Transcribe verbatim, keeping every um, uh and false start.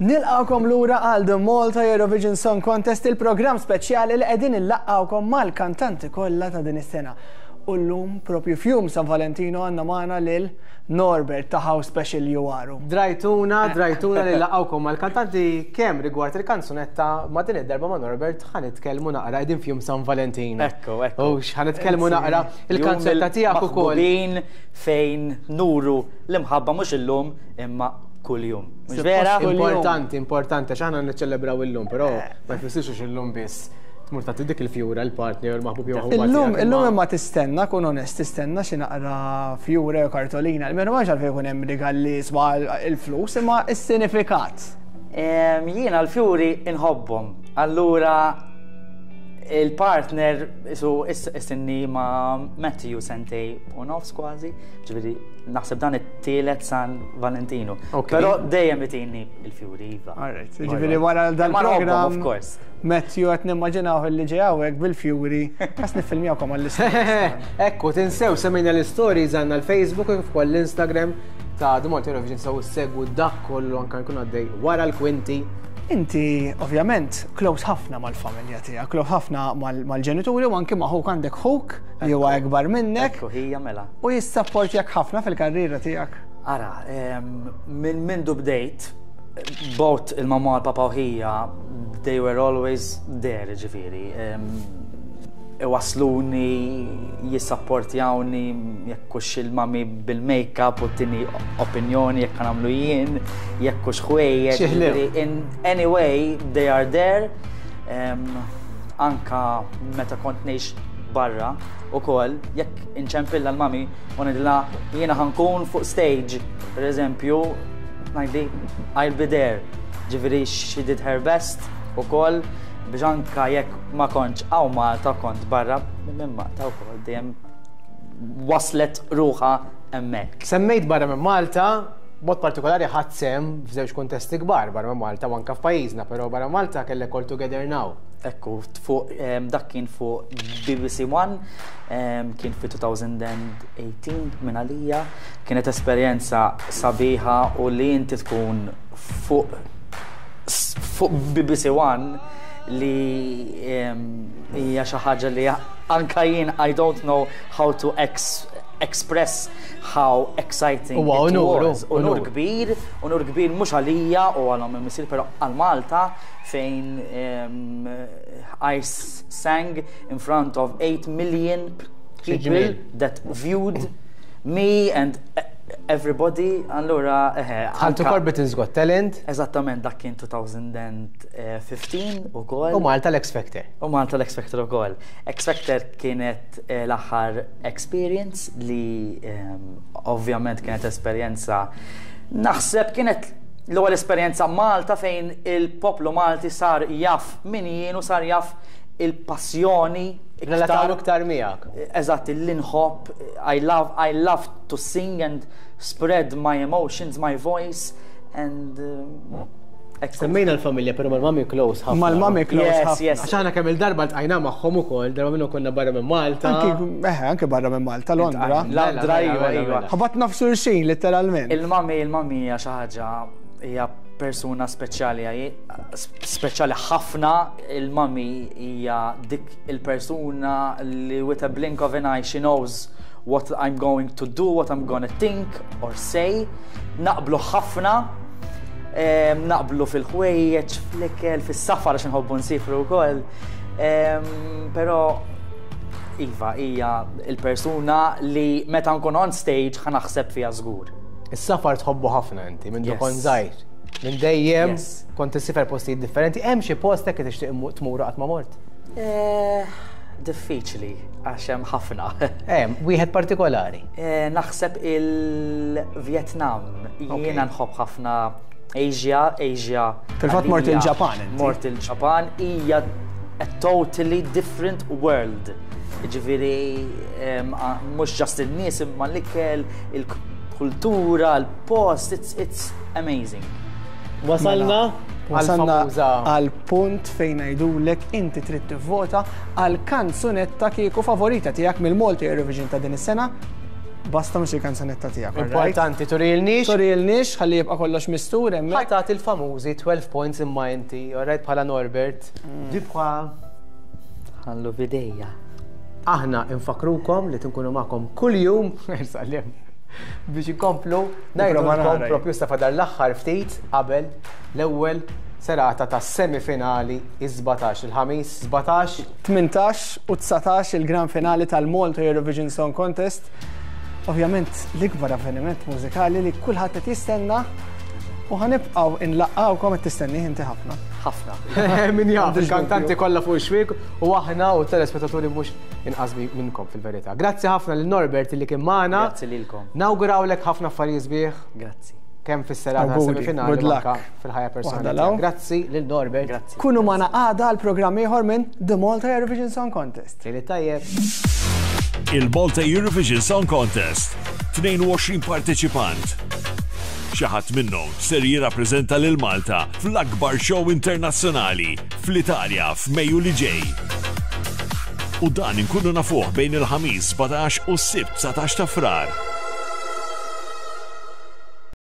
Nilqgħukom lura għal The Malta Eurovision Song Contest, il-programm speċjali li qegħdin inlaqqgħukom mal-kantanti kollha ta' din is-sena. U llum, propju f'jum San Valentino, għandna magħna lil Norbert ta' How Special You Are. Drajtuna, drajtuna li nlaqqgħukom mal-kantanti kemm rigward il-kanzunetta ma din id-darba ma' Norbert ħa nitkellmu naqra, qegħdin f'jum San Valentino. Ekku, ekku. U ħa nitkellmu naqra il-kanzunetta tiegħek ukoll. Maħbubin fejn nuru l-imħabba mhux illum imma kuljum. Mhux vera? Importanti, importanti, għax aħna niċċelebraw illum, però ma jfissirx illum biss. Tmur tagħti dik il-fjura l-partner, il-maħbub jew maħbuba Illum, tiegħek, illum imma- imma tistenna, kun onest, tistenna xi naqra fjura jew kartolina. Almenu ma għalfejn jkun hemm rigal li jiswa il-flus, imma is-sinifikat. Em, Jiena l-fjuri inħobbhom. Allura il-partner su istinni ma' Matthew sentejn u nofs kważi, ġifieri naħseb dan it-tielet San Valentino. Ok. Però dejjem itini il-fjuri, iva. Alright, ġifieri wara Ma nħobbhom, dal-programm. of course. Matthew qed nimmaġinaw li ġej hawnhekk bil-fjuri, qas niffilmjawkom għall-istorja. Ekku, tinsew semmejna l-stories, għandna l-Facebook u kif ukoll l-Instagram ta' The Malta Eurovision, so segwu dak kollu anka jkun għaddej wara l-kwinti. Inti, ovvjament, close ħafna mal-familja tiegħek, close ħafna mal- mal-ġenituri u anki ma' ħuk. Għandek ħuk li huwa ikbar minnek Ekku, hija mela. u jissapportjak ħafna fil-karriera tiegħek. Ara, em, minn mindu bdejt, both il-mamma u l-papa u ħija, they were always there, ġifieri. Em, Iwasluni, jissapportjawni, jekk hux il-mami bil-make-up u tini opinjoni jekk nagħmlu jien, jekk hux ħwejjeġ. Xi ħlew. Ġifieri, in any way, they are there. Em, anka meta kont ngħix barra ukoll, jekk inċempilla l-mami u ngħidilha jiena ħa nkun fuq stage, per eżempju, ngħidli "I'll be there." Ġifieri she did her best ukoll biex anka jekk ma kontx hawn Malta, kont barra minn Malta wkoll, dejjem waslet ruħha hemmhekk. Semmejt barra minn Malta, mod partikolari ħadt sehem f'żewġ kontesti kbar barra minn Malta u anka f'pajjiżna, però barra Malta kellek All Together Now. Ekku, fuq em, dak kien fuq B B C One, em, kien fi elfejn u tmintax minn għalija, kienet esperjenza sabiħa u li inti tkun fuq s- fuq B B C One li em, hija xi ħaġa li anka jien I don't know how to ex express how exciting Huwa it unur, was. Unur unur. Kbir, unur kbir mhux għalija u għal missier, però għal Malta fejn um, I sang in front of eight million people ġmiel. that viewed me and everybody. Allura, eħe. Dħalt anka- ukoll Britain's Got Talent. Eżattament, dak kien elfejn u ħmistax ukoll. U Malta l-X Factor. U Malta l-X Factor ukoll. X Factor kienet eh, l-aħħar experience li ehm, ovvjament kienet esperjenza, naħseb kienet l-ewwel esperjenza Malta fejn il-poplu Malti sar jaf min jien u sar jaf il-passjoni. Relataw iktar miegħek. Eżatt, li nħobb, I love, I love to sing and spread my emotions, my voice, and uh, Semmejna l-familja, però mal-mami close ħafna. Mal-mami close Yes, ħafna. yes. Għax aħna kemm il-darba ltqajna magħhom ukoll, darba minnu konna barra minn Malta. Anki, eħe, anki barra minn Malta, Londra. Londra, Mela, iva, mela, iva. mela. Ħabatna f'xulxin, letteralment. Il-mami, il-mami hija xi ħaġa, hija persuna speċjali, speċjali ħafna. Il-mami hija dik il-persuna li with a blink of an eye she knows what I'm going to do, what I'm gonna think or say. Naqblu ħafna, em, naqblu fil-ħwejjeġ, fl-ikel, fis-safar għax nħobbu nsifru wkoll. Em, Però iva, hija il-persuna li meta nkun on stage ħa naħseb fiha żgur. Is-safar tħobbu ħafna inti, minn Yes. kont żgħir. Minn dejjem Yes. kont issiefer postijiet differenti. Hemm xi post hekk tixtieq tmur qatt ma mort? Eh, Diffiċli, għax hemm ħafna. Hemm wieħed partikolari. Eh, Naħseb il-Vietnam. Jiena nħobb ħafna Asia, Asia. Fil-fatt mort għalija il-Ġapan inti. Mort il-Ġapan hija a totally different world. Ġifieri, em, a- mhux just il-nies imma l-ikel, il-kultura, il-post, it's, it's amazing. Wasalna Wasalna għal-famuża. għal punt fejn ngħidulek inti trid tivvota għal kanzunetta kieku favorita tiegħek mill-Malta Eurovision ta' din is-sena. Basta mhux il-kanzunetta tiegħek. Importanti, turilniex. Turilniex, ħalli jibqa' kollox mistur hemmhekk. Ħa tagħti il-famużi twelve points imma inti, alright, bħala Norbert. Dibqa. Ħallu bidejja. Aħna infakrukom li tinkunu magħkom kuljum, biex inkomplu ngħidulkom propju sa fadal l-aħħar ftit qabel l-ewwel serata ta' semifinali is-sbatax, il-ħamis sbatax. Tmintax u dsatax il-gran finali tal-Malta Eurovision Song Contest. Ovvjament l-ikbar avveniment mużikali li kulħadd qed jistenna u ħa nibqgħu nlaqqgħukom. Qed tistenni inti ħafna. Ħafna. Min jaf, il-kantanti kollha fuq ix-xwiek u aħna u telespettaturi mhux inqas minnkom fil-verità. Grazzi ħafna lil Norbert li kien magħna. Grazzi lilkom. Nawgurawlek ħafna affarijiet sbieħ. Grazzi. Kemm fis-serata semifinali anka fil-ħajja personali. Grazzi lil Norbert. Grazzi. Kunu magħna għada għal programm ieħor minn The Malta Eurovision Song Contest. Lejli tajjeb. Il-Malta Eurovision Song Contest. tnejn u għoxrin parteċipant. Xi ħadd minnhom ser jirrappreżenta lil Malta fl-akbar show internazzjonali fl-Italja f'Mejju li ġej. U dan inkunu nafuh bejn il-Ħamis sbatax u s-Sibt dsatax ta' Frar.